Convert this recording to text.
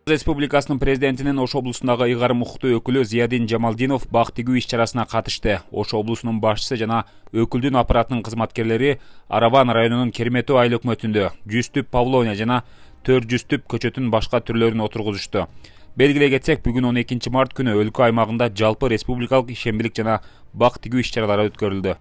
Республикасынын президентинин Ош облусундагы ыйгарым укуктуу өкүлү Зиядин Жамалдинов бак тигүү иш-чарасына катышты. Ош облусунун башчысы жана өкүлдүн аппаратынын кызматкерлери Араван районунун Кермету айыл өкмөтүндө 100 түп павлония жана 400 түп көчөтүн башка түрлөрүн отургузушту. Белгилей кетсек, бүгүн 12 март күнү өлкө аймагында жалпы республикалык ишембилик жана бак тигүү иш-чаралары өткөрүлдү.